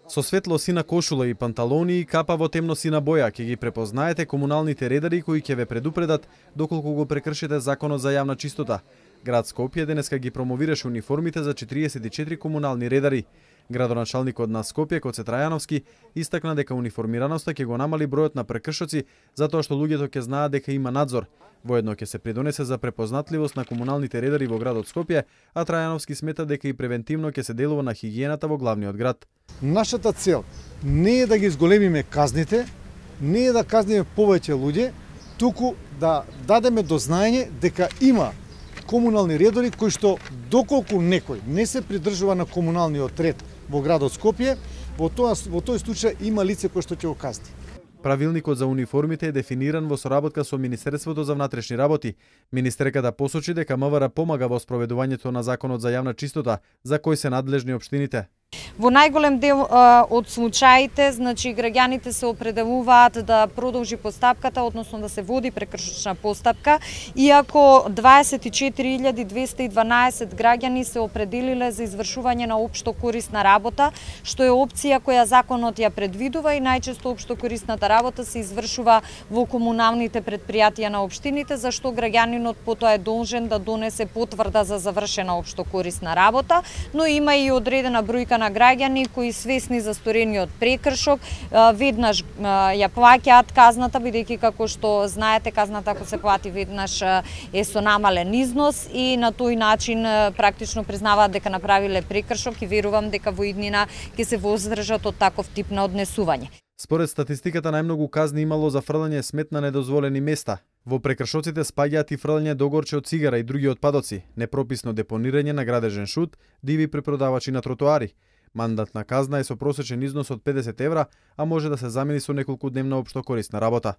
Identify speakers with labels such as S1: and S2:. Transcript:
S1: Со светло-сина кошула и панталони и капа во темно-сина боја ќе ги препознаете комуналните редари кои ќе ве предупредат доколку го прекршите законот за јавна чистота. Град Скопје денеска ги промовираше униформите за 44 комунални редари. Градоначалникот на Скопје Коце Трајановски истакна дека униформираноста ќе го намали бројот на прекршоци затоа што луѓето ќе знаат дека има надзор. Воедно ќе се придонесе за препознатливост на комуналните редари во градот Скопје, а Трајановски смета дека и превентивно ќе се делува на хигиената во главниот град.
S2: Нашата цел не е да ги зголемиме казните, не е да казниме повеќе луѓе, туку да дадеме до знаење дека има комунални редори кои што доколку некој не се придржува на комуналниот ред во градот Скопје, во тој случај има лице кој што ќе го казни.
S1: Правилникот за униформите е дефиниран во соработка со Министерството за внатрешни работи. Министерката посочи дека МВР помага во спроведувањето на законот за јавна чистота, за кој се надлежни општините.
S3: Во најголем дел од случаите, значи граѓаните се определуваат да продолжи постапката, односно да се води прекршочна постапка, иако 24.212 граѓани се определиле за извршување на општо корисна работа, што е опција која законот ја предвидува и најчесто општо корисната работа се извршува во комуналните претпријатија на општините, за што граѓанинот потоа е должен да донесе потврда за завршена општо корисна работа, но има и одредена бројка на граѓани кои свесни за сторениот прекршок веднаш ја плаќаат казната, бидејќи како што знаете казната ако се плати веднаш е со намален износ и на тој начин практично признаваат дека направиле прекршок и верувам дека во иднина ќе се воздржат од таков тип на однесување.
S1: Според статистиката најмногу казни имало за фрлање смет на недозволени места. Во прекршоците спаѓаат и фрлање догорче од цигара и други отпадоци, непрописно депонирање на градежен шут, диви препродавачи на тротоари. Мандатна казна е со просечен износ од 50 евра, а може да се замени со неколку дневна општо корисна работа.